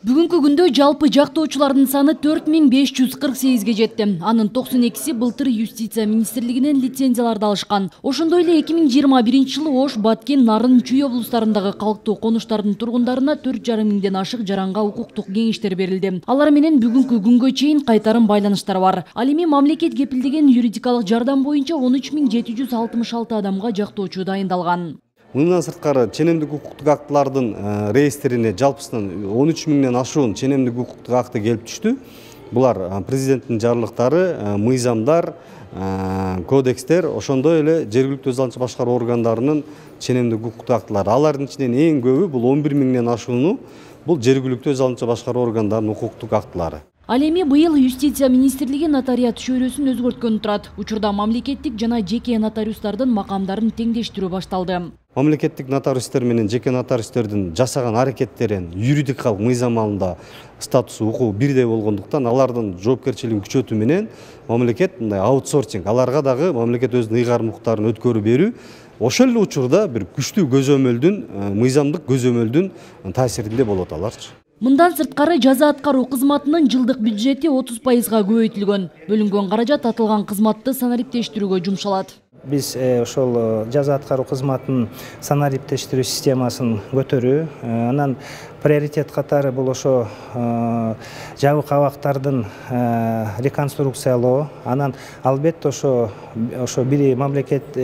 Бүгүнкү күндө жалпы жактоочулардын саны 4548ге жетти. Анын 92си былтыр Юстиция министрлигинен лицензияларды алышкан. Ошондой эле 2021 жылы Ош, Баткен, Нарын, Чүй облустарындагы калктуу конуштардын тургундарына 4,5 миңден ашык жаранга укуктук кеңештер берилди. Алар менен бүгүнкү күнгө чейин кайтарым байланыштар бар. Ал эми мамлекет кепилдеген юридикалык жардам боюнча 13766 адамга жактоочу дайындалган. Мындан сырткары ченемдик укуктук актылардын реестрине жалпысынан 13 миңден ашуун ченемдик укуктук акты келип түштү. Булар президенттин жарлыктары, мыйзамдар, кодекстер, ошондой эле жергиликтүү өз алдынча башкаруу органдарынын ченемдик укуктук актылары. Алардын ичинен эң көбү бул 11 миңден ашууну бул жергиликтүү өз алдынча башкаруу органдарынын укуктук актылары. Ал эми быйыл Юстиция министрлиги нотариат чөйрөсүн өзгөрткөнү турат. Учурда мамлекеттик жана жеке нотариустардын макамдарын теңдештирүү башталды. Мамлекеттик нотариустер менен жеке нотариустердин жасаган аракеттерин юридикалык мыйзам алымында статусу укугу бирдей болгондуктан алардын жоопкерчилигин күчөтүү менен мамлекет мындай аутсорсинг, аларга дагы мамлекет өзүнүн ыйгарым укуктарын өткөрүп берүү, ошол эле учурда бир күчтүү көзөмөлдүн, мыйзамдык көзөмөлдүн таасиринде болот аларчы. Мындан сырткары жаза аткаруу кызматынын жылдык бюджети 30%га көбөйтүлгөн. Бөлүнгөн каражат атылган кызматты санариптештирүүгө жумшалат. Биз ошол жаза аткаруу кызматынын санариптештирүү системасын көтөрүү, анан приоритет катары бул ошо жабык абактардын реконструкциялоо, анан албетте ошо бири мамлекет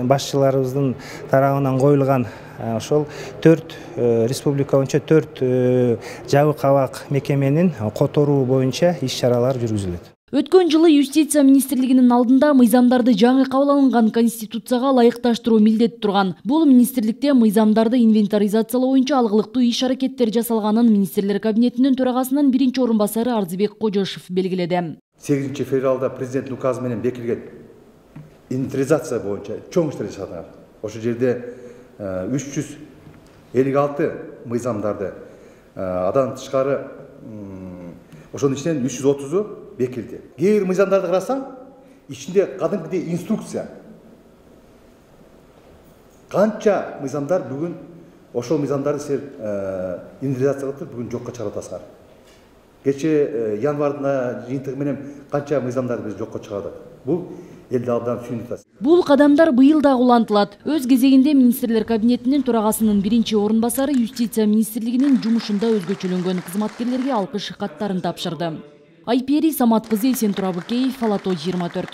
башчыларыбыздын тарабынан коюлган ошол 4 республика боюнча 4 жабык абак мекеменин которуу боюнча иш-чаралар жүргүзүлөт. Өткөн жылы Юстиция министрлигинин алдында мыйзамдарды жаңы кабыл алынган Конституцияга ылайыкташтыруу милдети турган. Бул министрликте мыйзамдарды инвентаризациялоо боюнча алгылыктуу иш-аракеттер жасалганын министрлер кабинетинин төрагасынын биринчи орун басары Арзыбек Кожошев белгиледи. 8-февралда президенттин указы менен бекитилген инвентаризация боюнча чоң иштер жасалган. Ошол жерде 356 мыйзамдарды адан тышкары ошонун ичинен 330-у бекилди. Кээ бир мыйзамдарды карасаң, ичинде кадимкидей инструкция. Канча мыйзамдар бүгүн ошол мыйзамдарды силер инвентаризация кылып бүгүн жокко чыгарып атасыңар. Кече январда жыйынтыгы менен канча мыйзамдарды биз жокко чыгардык. Бул элди абдан сүйүнүп атат. Бул кадамдар быйыл дагы улантылат. Өз кезегинде министрлер кабинетинин төрагасынын биринчи орун басары Юстиция министрлигинин жумушунда өзгөчөлөнгөн кызматкерлерге алкыш каттарын тапшырды. Айпери Самат кызы, Эсентура Быкеев, Ала Тоо 24.